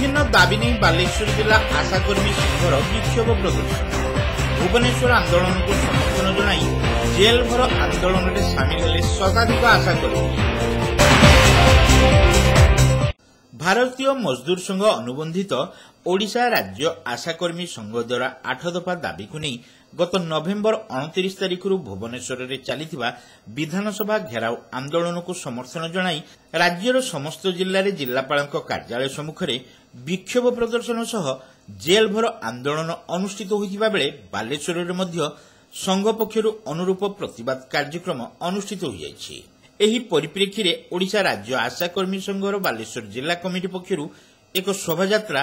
ବିଭିନ୍ନ ଦାବି ନେଇ ବାଲେଶ୍ୱର ଜିଲ୍ଲା ଆଶାକର୍ମୀ ସଂଘର ବିକ୍ଷୋଭ ପ୍ରଦର୍ଶନ। ଭୁବନେଶ୍ୱର ଆନ୍ଦୋଳନକୁ ସମର୍ଥନ ଜଣାଇ ଜେଲ୍ ଭର ଆନ୍ଦୋଳନରେ ସାମିଲ ହେଲେ ଶତାଧିକ ଆଶାକର୍ମୀ। ଭାରତୀୟ ମଜଦୁର ସଂଘ ଅନୁବନ୍ଧିତ ଓଡ଼ିଶା ରାଜ୍ୟ ଆଶାକର୍ମୀ ସଂଘ ଦ୍ୱାରା 8 ଦଫା ଦାବିକୁ ନେଇ ଗତ ନଭେମ୍ବର 29 ତାରିଖରୁ ଭୁବନେଶ୍ୱରରେ ଚାଲିଥିବା ବିଧାନସଭା ଘେରାଉ ଆନ୍ଦୋଳନକୁ ସମର୍ଥନ ଜଣାଇ ରାଜ୍ୟର ସମସ୍ତ ଜିଲ୍ଲାରେ ଜିଲ୍ଲାପାଳଙ୍କ କାର୍ଯ୍ୟାଳୟ ସମ୍ମୁଖରେ ବିକ୍ଷୋଭ ପ୍ରଦର୍ଶନ ସହ ଜେଲ୍ ଭର ଆନ୍ଦୋଳନ ଅନୁଷ୍ଠିତ ହୋଇଥିବା ବେଳେ ବାଲେଶ୍ୱରରେ ମଧ୍ୟ ସଂଘ ପକ୍ଷରୁ ଅନୁରୂପ ପ୍ରତିବାଦ କାର୍ଯ୍ୟକ୍ରମ ଅନୁଷ୍ଠିତ ହୋଇଯାଇଛି। ଏହି ପରିପ୍ରେକ୍ଷୀରେ ଓଡ଼ିଶା ରାଜ୍ୟ ଆଶାକର୍ମୀ ସଂଘର ବାଲେଶ୍ୱର ଜିଲ୍ଲା କମିଟି ପକ୍ଷରୁ ଏକ ଶୋଭାଯାତ୍ରା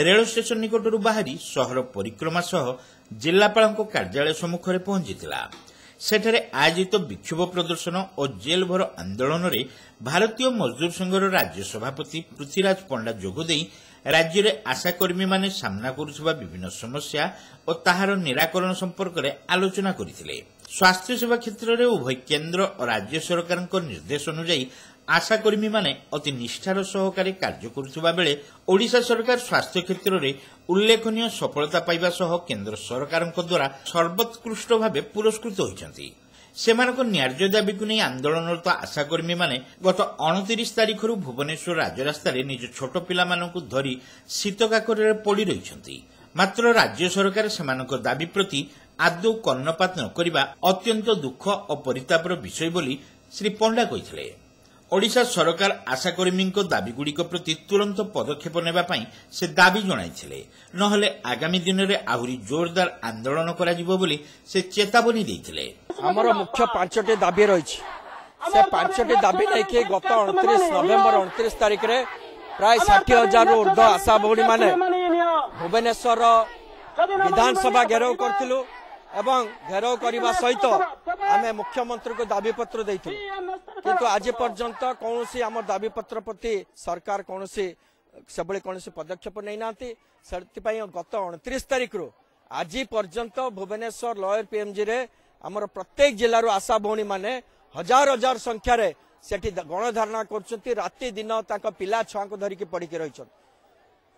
ରେଳ ଷ୍ଟେସନ ନିକଟରୁ ବାହାରି ସହର ପରିକ୍ରମା ସହ ଜିଲ୍ଲାପାଳଙ୍କ କାର୍ଯ୍ୟାଳୟ ସମ୍ମୁଖରେ ପହଞ୍ଚିଥିଲା। ସେଠାରେ ଆୟୋଜିତ ବିକ୍ଷୋଭ ପ୍ରଦର୍ଶନ ଓ ଜେଲ୍ ଭର ଆନ୍ଦୋଳନରେ ଭାରତୀୟ ମଜଦୁର ସଂଘର ରାଜ୍ୟ ସଭାପତି ପୃଥ୍ୱୀରାଜ ପଣ୍ଡା ଯୋଗଦେଇ ରାଜ୍ୟରେ ଆଶାକର୍ମୀମାନେ ସାମ୍ନା କରୁଥିବା ବିଭିନ୍ନ ସମସ୍ୟା ଓ ତାହାର ନିରାକରଣ ସମ୍ପର୍କରେ ଆଲୋଚନା କରିଥିଲେ। ସ୍ୱାସ୍ଥ୍ୟସେବା କ୍ଷେତ୍ରରେ ଉଭୟ କେନ୍ଦ୍ର ଓ ରାଜ୍ୟ ସରକାରଙ୍କ ନିର୍ଦ୍ଦେଶ ଅନୁଯାୟୀ ଆଶାକର୍ମୀମାନେ ଅତି ନିଷ୍ଠାର ସହକାରେ କାର୍ଯ୍ୟ କରୁଥିବା ବେଳେ ଓଡ଼ିଶା ସରକାର ସ୍ୱାସ୍ଥ୍ୟ କ୍ଷେତ୍ରରେ ଉଲ୍ଲେଖନୀୟ ସଫଳତା ପାଇବା ସହ କେନ୍ଦ୍ର ସରକାରଙ୍କ ଦ୍ୱାରା ସର୍ବୋତ୍କୃଷ୍ଟ ଭାବେ ପୁରସ୍କୃତ ହୋଇଛନ୍ତି। ସେମାନଙ୍କ ନ୍ୟାଯ୍ୟ ଦାବିକୁ ନେଇ ଆନ୍ଦୋଳନରତ ଆଶାକର୍ମୀମାନେ ଗତ 29 ତାରିଖରୁ ଭୁବନେଶ୍ୱର ରାଜରାସ୍ତାରେ ନିଜ ଛୋଟ ପିଲାମାନଙ୍କୁ ଧରି ଶୀତ କାକରରେ ପଡ଼ି ରହିଛନ୍ତି। ମାତ୍ର ରାଜ୍ୟ ସରକାର ସେମାନଙ୍କ ଦାବି ପ୍ରତି ଆଦୌ କର୍ଣ୍ଣପାତ ନ କରିବା ଅତ୍ୟନ୍ତ ଦୁଃଖ ଓ ପରିତାପର ବିଷୟ ବୋଲି ଶ୍ରୀ ପଣ୍ଡା କହିଥିଲେ। ଓଡ଼ିଶା ସରକାର ଆଶାକର୍ମୀଙ୍କ ଦାବିଗୁଡ଼ିକ ପ୍ରତି ତୁରନ୍ତ ପଦକ୍ଷେପ ନେବା ପାଇଁ ସେ ଦାବି ଜଣାଇଥିଲେ। ନହେଲେ ଆଗାମୀ ଦିନରେ ଆହୁରି ଜୋରଦାର ଆନ୍ଦୋଳନ କରାଯିବ ବୋଲି ସେ ଚେତାବନୀ ଦେଇଥିଲେ। ଆମର ମୁଖ୍ୟ 5ଟି ଦାବି ରହିଛି। ସେ 5ଟି ଦାବି ନେଇକି ଗତ 29 ନଭେମ୍ବର 29 ତାରିଖରେ ପ୍ରାୟ 60 ହଜାରରୁ ଉର୍ଦ୍ଧ୍ୱ ଆଶା ଭଉଣୀମାନେ ଭୁବନେଶ୍ୱର ବିଧାନସଭା ଘେରାଉ କରିଥିଲୁ ଏବଂ ଘେରାଉ କରିବା ସହିତ ଆମେ ମୁଖ୍ୟମନ୍ତ୍ରୀଙ୍କୁ ଦାବିପତ୍ର ଦେଇଥିଲୁ। କିନ୍ତୁ ଆଜି ପର୍ଯ୍ୟନ୍ତ କୌଣସି ଆମ ଦାବିପତ୍ର ପ୍ରତି ସରକାର କୌଣସି ସେଭଳି କୌଣସି ପଦକ୍ଷେପ ନେଇନାହାନ୍ତି। ସେଥିପାଇଁ ଗତ 29 ତାରିଖରୁ ଆଜି ପର୍ଯ୍ୟନ୍ତ ଭୁବନେଶ୍ୱର ଲୟର ପିଏମ୍ଜିରେ ଆମର ପ୍ରତ୍ୟେକ ଜିଲ୍ଲାରୁ ଆଶା ଭଉଣୀମାନେ ହଜାର ହଜାର ସଂଖ୍ୟାରେ ସେଠି ଗଣଧାରଣା କରୁଛନ୍ତି। ରାତି ଦିନ ତାଙ୍କ ପିଲା ଛୁଆଙ୍କୁ ଧରିକି ପଡ଼ିକି ରହିଛନ୍ତି।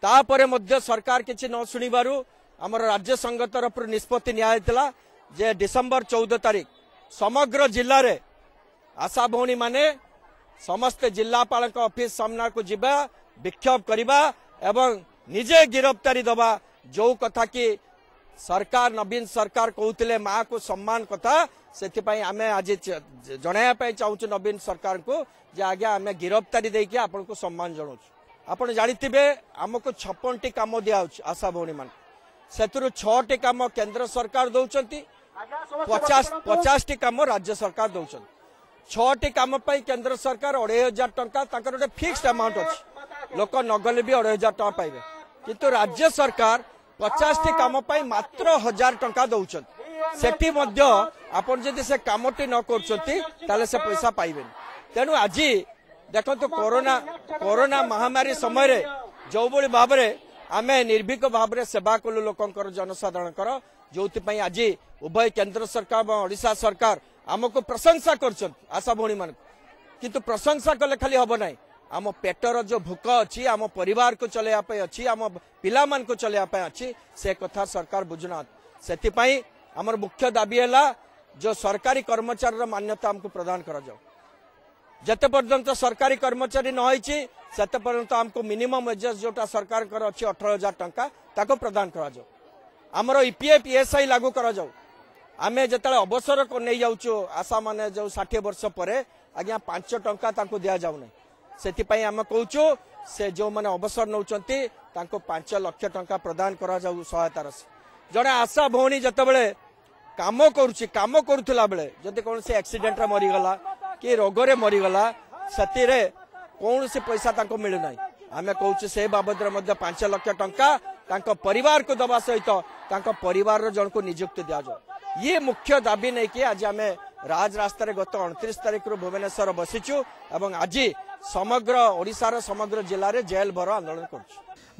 ତାପରେ ମଧ୍ୟ ସରକାର କିଛି ନ ଶୁଣିବାରୁ ଆମର ରାଜ୍ୟ ସଂଘ ତରଫରୁ ନିଷ୍ପତ୍ତି ନିଆଯାଇଥିଲା ଯେ ଡିସେମ୍ବର 14 ତାରିଖ ସମଗ୍ର ଜିଲ୍ଲାରେ ଆଶା ଭଉଣୀମାନେ ସମସ୍ତେ ଜିଲ୍ଲାପାଳଙ୍କ ଅଫିସ ସାମ୍ନାକୁ ଯିବା, ବିକ୍ଷୋଭ କରିବା ଏବଂ ନିଜେ ଗିରଫଦାରୀ ଦେବା। ଯୋଉ କଥା କି ସରକାର ନବୀନ ସରକାର କହୁଥିଲେ ମାଆକୁ ସମ୍ମାନ କଥା, ସେଥିପାଇଁ ଆମେ ଆଜି ଜଣାଇବା ପାଇଁ ଚାହୁଁଛୁ ନବୀନ ସରକାରଙ୍କୁ ଯେ ଆଜ୍ଞା ଆମେ ଗିରଫଦାରୀ ଦେଇକି ଆପଣଙ୍କୁ ସମ୍ମାନ ଜଣାଉଛୁ। ଆପଣ ଜାଣିଥିବେ ଆମକୁ 56ଟି କାମ ଦିଆହଉଛି ଆଶା ଭଉଣୀମାନଙ୍କୁ। ସେଥିରୁ 6ଟି କାମ କେନ୍ଦ୍ର ସରକାର ଦଉଛନ୍ତି, 50ଟି କାମ ରାଜ୍ୟ ସରକାର ଦଉଛନ୍ତି। 6ଟି କାମ ପାଇଁ କେନ୍ଦ୍ର ସରକାର 2500 ଟଙ୍କା, ତାଙ୍କର ଗୋଟେ ଫିକ୍ସଡ ଆମାଉଣ୍ଟ ଅଛି, ଲୋକ ନଗଲେ ବି 2500 ଟଙ୍କା ପାଇବେ। କିନ୍ତୁ ରାଜ୍ୟ ସରକାର 50ଟି କାମ ପାଇଁ ମାତ୍ର 1000 ଟଙ୍କା ଦଉଛନ୍ତି। ସେଠି ମଧ୍ୟ ଆପଣ ଯଦି ସେ କାମଟି ନ କରୁଛନ୍ତି ତାହେଲେ ସେ ପଇସା ପାଇବେନି। ତେଣୁ ଆଜି ଦେଖନ୍ତୁ କରୋନା ମହାମାରୀ ସମୟରେ ଯେଉଁଭଳି ଭାବରେ ଆମେ ନିର୍ଭୀକ ଭାବରେ ସେବା କଲୁ ଲୋକଙ୍କର, ଜନସାଧାରଣଙ୍କର, ଯୋଉଥିପାଇଁ ଆଜି ଉଭୟ କେନ୍ଦ୍ର ସରକାର ଏବଂ ଓଡ଼ିଶା ସରକାର ଆମକୁ ପ୍ରଶଂସା କରୁଛନ୍ତି ଆଶା ଭଉଣୀମାନଙ୍କୁ। କିନ୍ତୁ ପ୍ରଶଂସା କଲେ ଖାଲି ହବ ନାହିଁ, ଆମ ପେଟର ଯୋଉ ଭୋକ ଅଛି, ଆମ ପରିବାରକୁ ଚଲେଇବା ପାଇଁ ଅଛି, ଆମ ପିଲାମାନଙ୍କୁ ଚଲେଇବା ପାଇଁ ଅଛି, ସେ କଥା ସରକାର ବୁଝୁନାହାନ୍ତି। ସେଥିପାଇଁ ଆମର ମୁଖ୍ୟ ଦାବି ହେଲା ଯୋଉ ସରକାରୀ କର୍ମଚାରୀର ମାନ୍ୟତା ଆମକୁ ପ୍ରଦାନ କରାଯାଉ। ଯେତେ ପର୍ଯ୍ୟନ୍ତ ସରକାରୀ କର୍ମଚାରୀ ନ ହେଇଛି ସେତେ ପର୍ଯ୍ୟନ୍ତ ଆମକୁ ମିନିମମ୍ ୱେଜେସ୍ ଯୋଉଟା ସରକାରଙ୍କର ଅଛି 18,000 ଟଙ୍କା ତାକୁ ପ୍ରଦାନ କରାଯାଉ। ଆମର ଇପିଏଫ୍ ଇଏସ୍ଆଇ ଲାଗୁ କରାଯାଉ। ଆମେ ଯେତେବେଳେ ଅବସର ନେଇଯାଉଛୁ ଆଶା ମାନେ ଯୋଉ 60 ବର୍ଷ ପରେ ଆଜ୍ଞା 5 ଟଙ୍କା ତାଙ୍କୁ ଦିଆଯାଉନାହିଁ। ସେଥିପାଇଁ ଆମେ କହୁଛୁ ସେ ଯେଉଁମାନେ ଅବସର ନେଉଛନ୍ତି ତାଙ୍କୁ 5 ଲକ୍ଷ ଟଙ୍କା ପ୍ରଦାନ କରାଯାଉ ସହାୟତା ରାଶି। ଜଣେ ଆଶା ଭଉଣୀ ଯେତେବେଳେ କାମ କରୁଛି, କାମ କରୁଥିଲା ବେଳେ ଯଦି କୌଣସି ଆକ୍ସିଡେଣ୍ଟରେ ମରିଗଲା କି ରୋଗରେ ମରିଗଲା, ସେଥିରେ କୌଣସି ପଇସା ତାଙ୍କୁ ମିଳୁନାହିଁ। ଆମେ କହୁଛୁ ସେ ବାବଦରେ ମଧ୍ୟ 5 ଲକ୍ଷ ଟଙ୍କା ତାଙ୍କ ପରିବାରକୁ ଦେବା ସହିତ ତାଙ୍କ ପରିବାରର ଜଣକୁ ନିଯୁକ୍ତି ଦିଆଯାଉ। ଇଏ ମୁଖ୍ୟ ଦାବି ନେଇକି ଆଜି ଆମେ ରାଜରାସ୍ତାରେ ଗତ 29 ତାରିଖରୁ ଭୁବନେଶ୍ୱର ବସିଛୁ ଏବଂ ଆଜି ସମଗ୍ର ଓଡ଼ିଶାର ସମଗ୍ର ଜିଲ୍ଲାରେ ଜେଲ୍ ଭର ଆନ୍ଦୋଳନ କରୁଛୁ।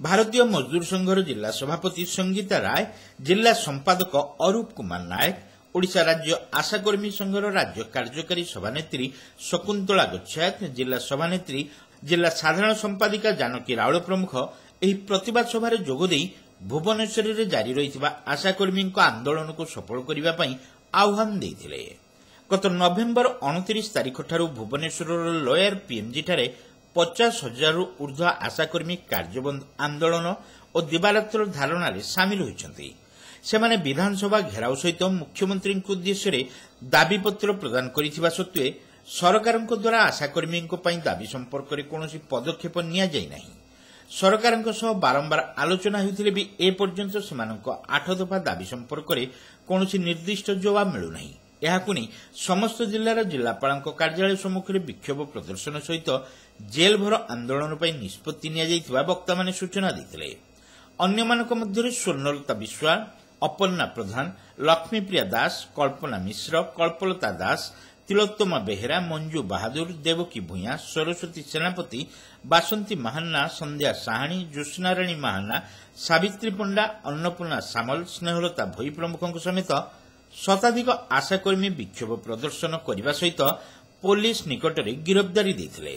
ଭାରତୀୟ ମଜଦୁର ସଂଘର ଜିଲ୍ଲା ସଭାପତି ସଙ୍ଗୀତା ରାୟ, ଜିଲ୍ଲା ସମ୍ପାଦକ ଅରୂପ କୁମାର ନାୟକ, ଓଡ଼ିଶା ରାଜ୍ୟ ଆଶାକର୍ମୀ ସଂଘର ରାଜ୍ୟ କାର୍ଯ୍ୟକାରୀ ସଭାନେତ୍ରୀ ଶକୁନ୍ତଳା ଗୋଚ୍ଛାୟତ, ଜିଲ୍ଲା ସଭାନେତ୍ରୀ, ଜିଲ୍ଲା ସାଧାରଣ ସମ୍ପାଦିକା ଜାନକୀ ରାଉଳ ପ୍ରମୁଖ ଏହି ପ୍ରତିବାଦ ସଭାରେ ଯୋଗଦେଇ ଭୁବନେଶ୍ୱରରେ ଜାରି ରହିଥିବା ଆଶାକର୍ମୀଙ୍କ ଆନ୍ଦୋଳନକୁ ସଫଳ କରିବା ପାଇଁ ଆହ୍ୱାନ ଦେଇଥିଲେ। ଗତ ନଭେମ୍ବର 29 ତାରିଖଠାରୁ ଭୁବନେଶ୍ୱରର ଲୋୟର ପିଏମ୍ଜିଠାରେ 50 ହଜାରରୁ ଉର୍ଦ୍ଧ୍ୱ ଆଶାକର୍ମୀ କାର୍ଯ୍ୟବନ୍ଦ ଆନ୍ଦୋଳନ ଓ ଦିବାରାତ୍ର ଧାରଣାରେ ସାମିଲ ହୋଇଛନ୍ତି। ସେମାନେ ବିଧାନସଭା ଘେରାଉ ସହିତ ମୁଖ୍ୟମନ୍ତ୍ରୀଙ୍କ ଉଦ୍ଦେଶ୍ୟରେ ଦାବିପତ୍ର ପ୍ରଦାନ କରିଥିବା ସତ୍ତ୍ୱେ ସରକାରଙ୍କ ଦ୍ୱାରା ଆଶାକର୍ମୀଙ୍କ ପାଇଁ ଦାବି ସମ୍ପର୍କରେ କୌଣସି ପଦକ୍ଷେପ ନିଆଯାଇ ନାହିଁ। ସରକାରଙ୍କ ସହ ବାରମ୍ବାର ଆଲୋଚନା ହେଉଥିଲେ ବି ଏପର୍ଯ୍ୟନ୍ତ ସେମାନଙ୍କ 8 ଦଫା ଦାବି ସମ୍ପର୍କରେ କୌଣସି ନିର୍ଦ୍ଦିଷ୍ଟ ଜବାବ ମିଳୁନାହିଁ। ଏହାକୁ ନେଇ ସମସ୍ତ ଜିଲ୍ଲାର ଜିଲ୍ଲାପାଳଙ୍କ କାର୍ଯ୍ୟାଳୟ ସମ୍ମୁଖରେ ବିକ୍ଷୋଭ ପ୍ରଦର୍ଶନ ସହିତ ଜେଲ୍ ଭର ଆନ୍ଦୋଳନ ପାଇଁ ନିଷ୍ପତ୍ତି ନିଆଯାଇଥିବା ବକ୍ତାମାନେ ସୂଚନା ଦେଇଥିଲେ। ଅନ୍ୟମାନଙ୍କ ମଧ୍ୟରେ ସ୍ୱର୍ଣ୍ଣଲତା ବିଶ୍ୱାଳ, ଅପର୍ଣ୍ଣା ପ୍ରଧାନ, ଲକ୍ଷ୍ମୀପ୍ରିୟା ଦାସ, କଳ୍ପନା ମିଶ୍ର, କଳ୍ପଲତା ଦାସ, ତିଳୋତ୍ତମା ବେହେରା, ମଞ୍ଜୁ ବାହାଦୁର, ଦେବକୀ ଭୂୟାଁ, ସରସ୍ୱତୀ ସେନାପତି, ବାସନ୍ତୀ ମାହାନା, ସନ୍ଧ୍ୟା ସାହାଣୀ, ଜ୍ୟୋତ୍ସ୍ନାରାଣୀ ମାହାନା, ସାବିତ୍ରୀ ପଣ୍ଡା, ଅନ୍ନପୂର୍ଣ୍ଣା ସାମଲ, ସ୍ନେହଲତା ଭୋଇ ପ୍ରମୁଖଙ୍କ ସମେତ ଶତାଧିକ ଆଶାକର୍ମୀ ବିକ୍ଷୋଭ ପ୍ରଦର୍ଶନ କରିବା ସହିତ ପୋଲିସ ନିକଟରେ ଗିରଫଦାରୀ ଦେଇଥିଲେ।